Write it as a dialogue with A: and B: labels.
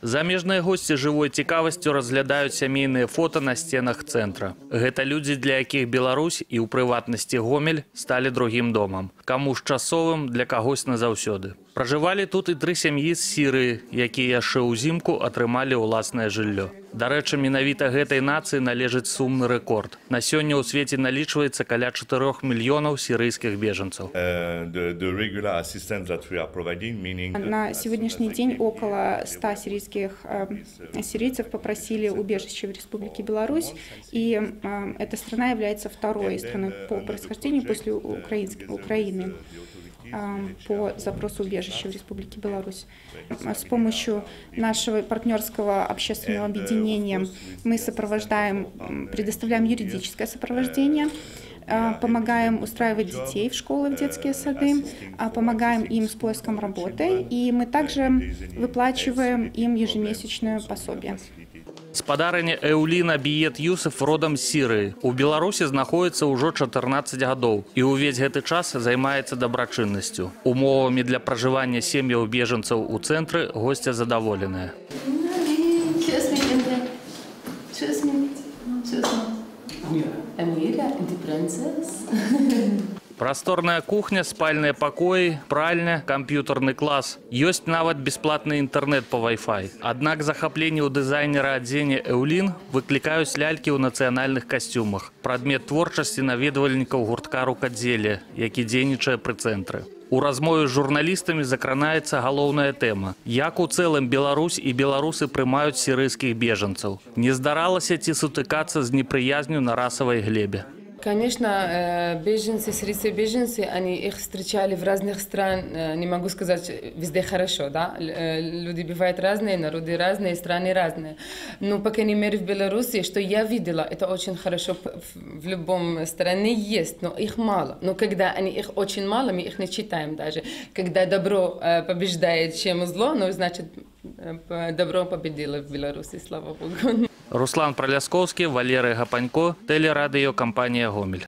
A: Замежныя госці жывой цікавасцю разглядаюць сямейныя фота на сценах цэнтра. Гэта людзі, для якіх Беларусь і ў прыватнасці Гомель сталі другім домам. Каму ж часовым, для кагось назаўсёды. Пражывалі тут і 3 сям'і з Сірыі, якія яшчэ ўзімку атрымалі ўласнае жыллё. Дарэчы, менавіта гэтай нацыі належыць сумны рэкорд. На сёння ў свеце налічваецца каля 4 мільёнаў сірыйскіх беженцаў.
B: На сегодняшний день около 100 сирийцев попросили убежище в Республике Беларусь, и эта страна является второй страной по происхождению после Украины по запросу убежища в Республике Беларусь. С помощью нашего партнерского общественного объединения мы предоставляем юридическое сопровождение, помогаем устраивать детей в школы, в детские сады, помогаем им с поиском работы, и мы также выплачиваем им ежемесячное пособие.
A: Спадарыня Эўліна Біет Юсеф родам з Сірыі. У Беларусі знаходіцца ўжо 14 гадоў і ўвесь гэты час займаецца дабрачыннасцю. Умовамі для пражывання сем'яў бежанцаў у цэнтры госця задаволеныя. Прасторная кухня, спальныя пакоі, пральня, камп'ютарны клас. Ёсць нават бясплатны інтэрнэт па Wi-Fi. Аднак захапленне ў дызайнера адзення Эўлін выклікаюць лялькі ў нацыянальных касцюмах. Прадмет творчасці наведвальнікаў гуртка рукадзелля, які дзейнічае пры цэнтры. У размове з журналістамі закранаецца галоўная тэма. Як у цэлым Беларусь і беларусы прымаюць сірыйскіх бежанцаў? Не здаралася ці сутыкацца з непрыязню на расавай глебе?
C: Конечно, беженцы, сирийские беженцы, они их встречали в разных странах, не могу сказать, везде хорошо, да? Люди бывают разные, народы разные, страны разные. Но, по крайней мере, в Беларуси, что я видела, это очень хорошо в любом стране есть, но их мало. Но когда их очень мало, мы их не читаем даже. Когда добро побеждает, чем зло, ну, значит, добро победило в Беларуси, слава Богу.
A: Руслан Праляскоўскі, Валерый Гапанько, телерадиокомпания «Гомель».